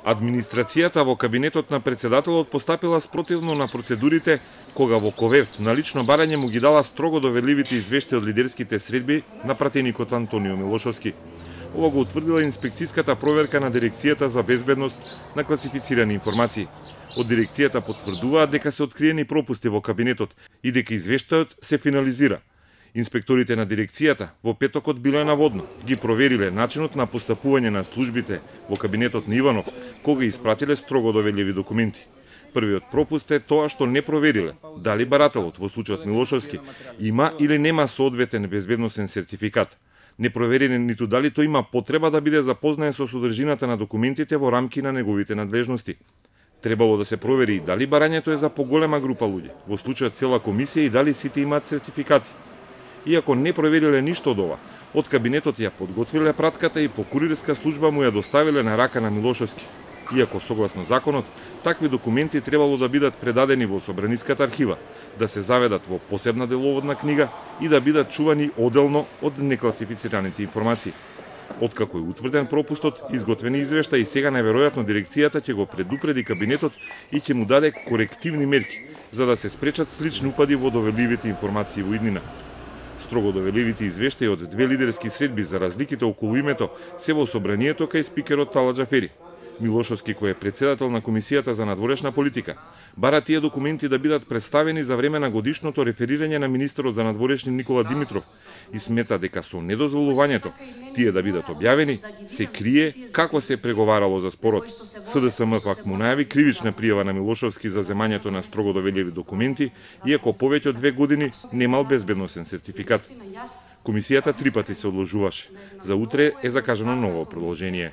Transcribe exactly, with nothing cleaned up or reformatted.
Администрацијата во кабинетот на председателот постапила спротивно на процедурите кога во Ковевт на лично барање му ги дала строго доверливите извештаи од лидерските средби на пратеникот Антонио Милошовски. Ова го утврдила инспекцијската проверка на Дирекцијата за безбедност на класифицирани информации. Од дирекцијата потврдуваат дека се откриени пропусти во кабинетот и дека извештајот се финализира. Инспекторите на дирекцијата во петокот биле наводно ги провериле начинот на постапување на службите во кабинетот на Иванов, кога испратиле строго доверливи документи. Првиот пропуст е тоа што не провериле дали барателот во случајот Милошовски има или нема соодветен безбедносен сертификат. Не провериле ниту дали тој има потреба да биде запознаен со содржината на документите во рамки на неговите надлежности. Требало да се провери дали барањето е за поголема група луѓе, во случајот цела комисија, и дали сите имаат сертификати. Иако не провериле ништо од ова, од кабинетот ја подготвиле пратката и по курирска служба му ја доставиле на рака на Милошовски. Иако согласно законот, такви документи требало да бидат предадени во Собраниската архива, да се заведат во посебна деловодна книга и да бидат чувани оделно од некласифицираните информации. Откако е утврден пропустот, изготвени извештаи и сега најверојатно дирекцијата ќе го предупреди кабинетот и ќе му даде корективни мерки, за да се спречат слични упади во доверливите информации во иднина. Строго доверливите извештаи од две лидерски средби за разликите околу името се во собранието кај спикерот Тала Џафери. Милошовски, кој е председател на Комисијата за надворешна политика, бара тие документи да бидат представени за време на годишното реферирање на министерот за надворешни Никола Димитров и смета дека со недозволувањето тие да бидат објавени се крие како се преговарало за спорот. СДСМ пак му најави кривична пријава на Милошовски за земањето на строго доверливи документи, иако повеќе од две години немал безбедносен сертификат. Комисијата три пати се одложуваше. За утре е закажано ново продолжение.